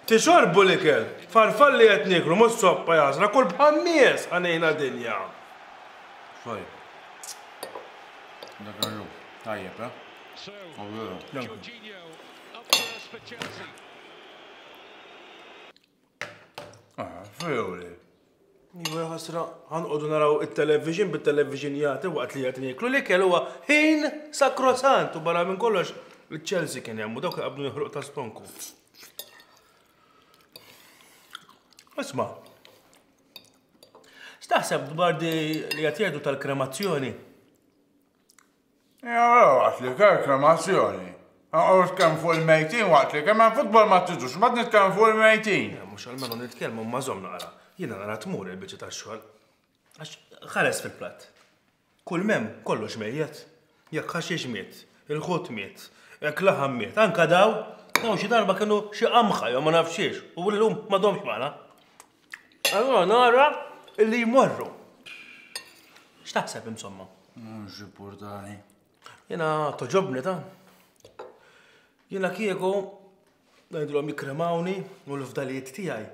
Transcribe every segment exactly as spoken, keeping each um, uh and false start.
Tixorbu l-ikel, farfalli qed nieklu mhux soppa jasra, kull bħan-nies għanejna dinja. Sorry. Dak ir tajjeb, eh? Ah, fjuri. Iva ħasra, ħanqodu naraw it-television bit-television jagħti waqt li qed nieklu l-ikel huwa ħin sakrosant u barra minn kollox il-Chelsea kien hemm u dawk qabdu joħroq ta' stonku. Isma', x'taħseb dwar di li qed jgħidu tal-kremazzjoni? Ja, waqt li kell kremazzjoni. Għu kemm fuq il-mejtin waqt li kemm hemm futbol ma tiġux, ma nitkellem fuq il-mejtin. Mhux almenu nitkellmu ma żomm naqra. Jiena nara tmur il-biċċa tax-xogħol. Għax ħares fil-platt. Kull mem kollox mejjet. Jekk ħaxix miet, il-ħut miet, jekk laħam miet, anka daw, daw xi darba kienu xi qamħa jew ma nafxiex u llum m'għadhomx magħna. Allora nara illi jmorru. X'taħseb insomma? Mhux importanti. Jiena toġobni ta' jiena kieku ngħidulhom jikkremawni u l-fdalijiet tiegħi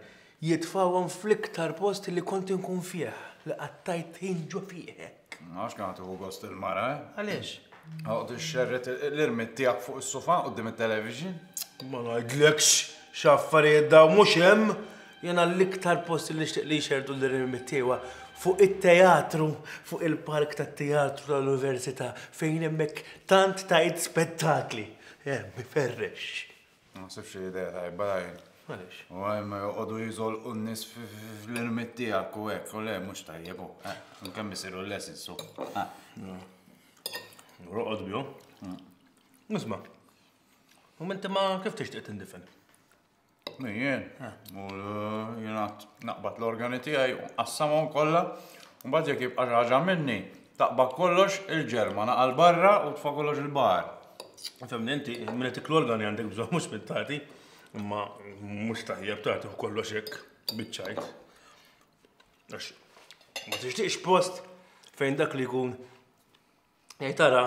jitfawhom fl-iktar post li kont inkun fih, li qattajt ħin ġo fih hekk. Ma nafx kemm tieħu gost il-mara, eh? Għaliex? Għoqgħod ixxerred l-irmied tiegħek fuq is-sofa quddiem it-television. Ma ngħidlekx x'affarijiet daw mhux hemm. Jiena l-iktar post li nixtieq li jxerrdu l-irmied tiegħu fuq it-teatru, fuq il-park tat-teatru tal-università fejn hemmhekk tant tajt spettakli. Hemm iferrex. Ma naħsibx li idea tajba dajn. Għaliex? U hemm joqogħdu jiżolqu n-nies fl-irmied tiegħek u hekk, u le mhux tajjeb hu. Kemm isiru l-lessons su. Roqgħod bihom. Isma'. U inti ma kif tixtieq tindifen? Jien, u jiena naqbad l-organi tiegħi u nqassamhom kollha, u mbagħad jekk jibqa' xi ħaġa minni, taqbad kollox il-ġerma naqal barra u tfa' kollox il-baħar. Fehmni inti, minn tik l-organi għandek bżonn mhux minn tagħti, imma mhux tajjeb tagħti kollox hekk biċ-ċajt. Għax ma tixtieqx post fejn dak li jkun jgħid tara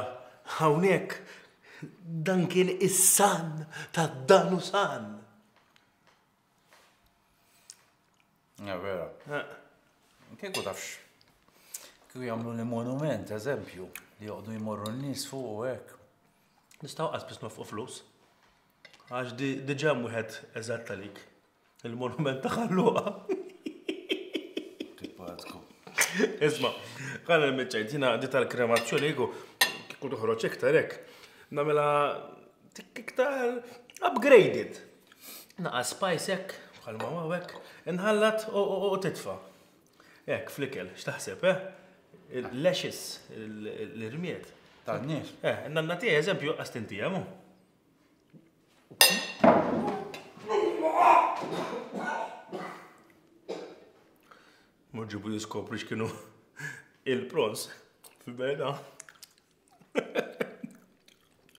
hawnhekk dan kien is-san ta' dan u san. Ja, vera. Kieku tafx, kieku jagħmlu li monument, eżempju, li joqogħdu jmorru n-nies fuq u hekk. Nistgħu qas biss nofqu flus. Għax diġà hemm wieħed eżatt għalik. Il-monument ta' Ħalluqa. Tipatku. Isma', ħalli nmiċċajt, jiena di tal-kremazzjoni kieku kieku toħroġ iktar hekk. Nagħmilha tik iktar upgraded. Naqa' spice hekk, bħalma hawn hekk, inħallat u titfa'. Hekk fl-ikel, x'taħseb, eh? Il-lashes, l-irmied. Tan-nies. Eh, nanna tiegħi eżempju qas tintijem hu. Mur ġibu jiskopri x'kienu il-prons fil-verità.